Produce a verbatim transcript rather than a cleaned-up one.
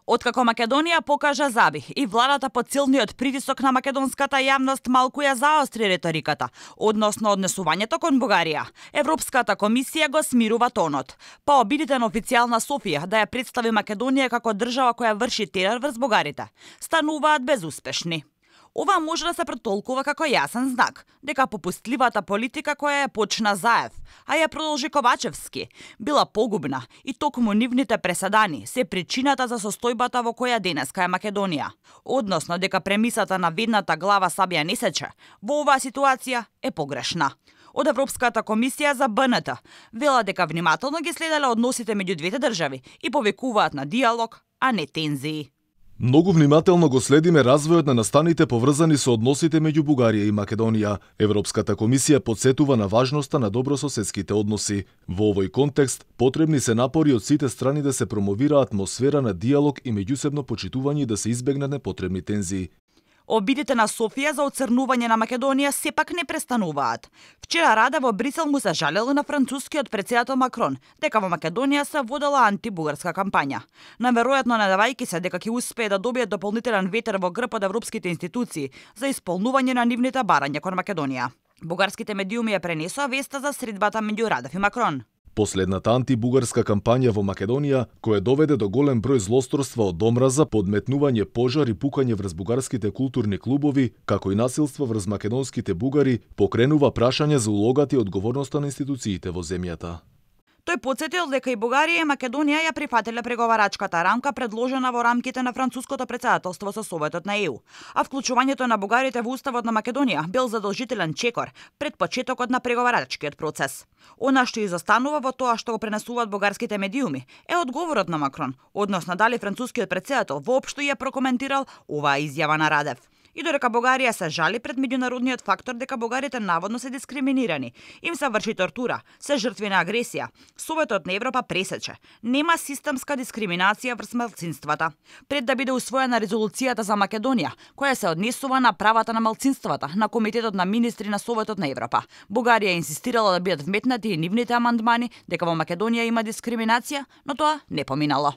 Откако Македонија покажа забих и владата под силниот притисок на македонската јавност малку ја заостри реториката односно однесувањето кон Бугарија, Европската комисија го смирува тонот. Па обидите на официјална Софија да ја представи Македонија како држава која врши терор врз бугарите стануваат безуспешни. Ова може да се претолкува како јасен знак дека попустливата политика која ја почна Заев, а ја продолжи Ковачевски, била погубна и токму нивните преседани се причината за состојбата во која денеска е Македонија, односно дека премисата на ведната глава сабија не сече во оваа ситуација е погрешна. Од Европската комисија за Б Н Т вела дека внимателно ги следеле односите меѓу двете држави и повикуваат на диалог, а не тензии. Многу внимателно го следиме развојот на настаните поврзани со односите меѓу Бугарија и Македонија. Европската комисија потсетува на важноста на добрососедските односи. Во овој контекст потребни се напори од сите страни да се промовира атмосфера на диалог и меѓусебно почитување да се избегнат непотребни тензии. Обидите на Софија за оцрнување на Македонија сепак не престануваат. Вчера Раде во Брисел му се жалел на францускиот претседател Макрон дека во Македонија се водела антибугарска кампања. Наверојатно надевајќи се дека ќе успее да добие дополнителен ветер во грб од европските институции за исполнување на нивните барања кон Македонија. Бугарските медиуми ја пренесоа веста за средбата меѓу Радев и Макрон. Последната антибугарска кампања во Македонија, која доведе до голем број злосторства од омраза, подметнување пожар и пукање врз бугарските културни клубови, како и насилство врз македонските бугари, покренува прашање за улогата и одговорноста на институциите во земјата. Тој потсетил дека и Бугарија и Македонија ја прифатиле преговарачката рамка предложена во рамките на француското претседателство со Советот на Е У, а вклучувањето на бугарите во уставот на Македонија бил задолжителен чекор пред почетокот на преговарачкиот процес. Она што изостанува во тоа што го пренесуваат бугарските медиуми е одговорот на Макрон, односно дали францускиот претседател воопшто ја прокоментирал оваа изјава на Радев. И додека Бугарија се жали пред меѓународниот фактор дека бугарите наводно се дискриминирани, им се врши тортура, се жртви на агресија, Советот на Европа пресече: нема системска дискриминација врз малцинствата. Пред да биде усвоена резолуцијата за Македонија, која се однесува на правата на малцинствата на Комитетот на министри на Советот на Европа, Бугарија инсистирала да бидат вметнати и нивните амандмани дека во Македонија има дискриминација, но тоа не поминало.